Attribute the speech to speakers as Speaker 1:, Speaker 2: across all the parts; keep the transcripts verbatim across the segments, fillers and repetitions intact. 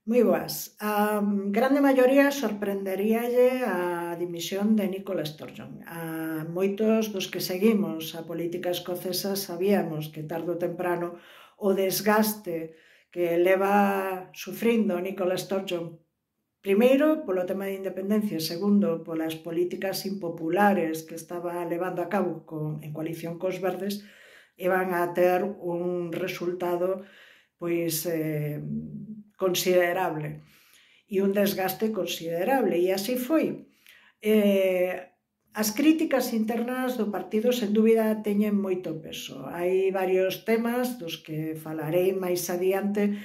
Speaker 1: Moi boas. A grande maioría sorprenderíalle a dimisión de Nicola Sturgeon. A moitos dos que seguimos a política escocesa sabíamos que tarde ou temprano o desgaste que leva sufrindo Nicola Sturgeon, primeiro polo tema de independencia, segundo polas políticas impopulares que estaba levando a cabo con, en coalición cos verdes, iban a ter un resultado pois eh, considerable e un desgaste considerable, e así foi. Eh, as críticas internas do partido, sen dúbida, teñen moito peso. Hai varios temas dos que falarei máis adiante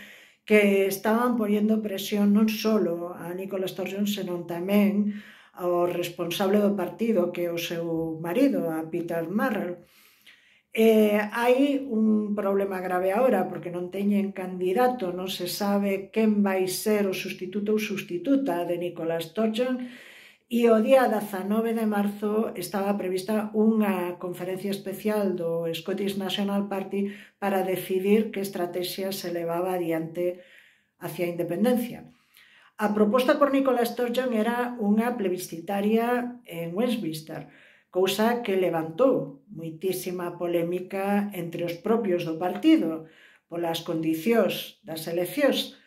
Speaker 1: que estaban poñendo presión non só a Nicola Sturgeon, senón tamén ao responsable do partido, que é o seu marido, a Peter Marrell. Eh, hai un problema grave agora, porque non teñen candidato, non se sabe quen vai ser o sustituto ou sustituta de Nicola Sturgeon, e o día dezanove de marzo estaba prevista unha conferencia especial do Scottish National Party para decidir que estrategia se levaba adiante hacia a independencia. A proposta por Nicola Sturgeon era unha plebiscitaria en Westminster, cousa que levantou moitísima polémica entre os propios do partido polas condicións das eleccións.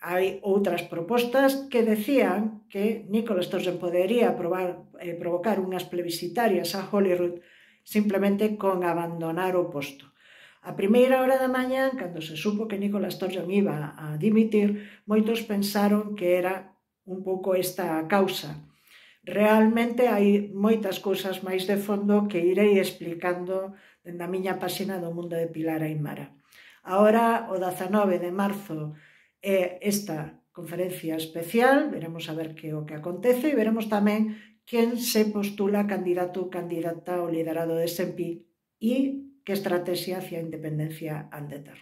Speaker 1: Hai outras propostas que decían que Nicola Sturgeon podería provar, eh, provocar unhas plebiscitarias a Holyrood simplemente con abandonar o posto. A primeira hora da mañá, cando se supo que Nicola Sturgeon iba a dimitir, moitos pensaron que era un pouco esta a causa. Realmente hai moitas cousas máis de fondo que irei explicando dende a miña páxina do Mundo de Pilar Aimara. Agora, o dezanove de marzo, é esta conferencia especial, veremos a ver que o que acontece e veremos tamén quen se postula candidato ou candidata ao liderado de S N P e que estrategia hacia a independencia han de ter.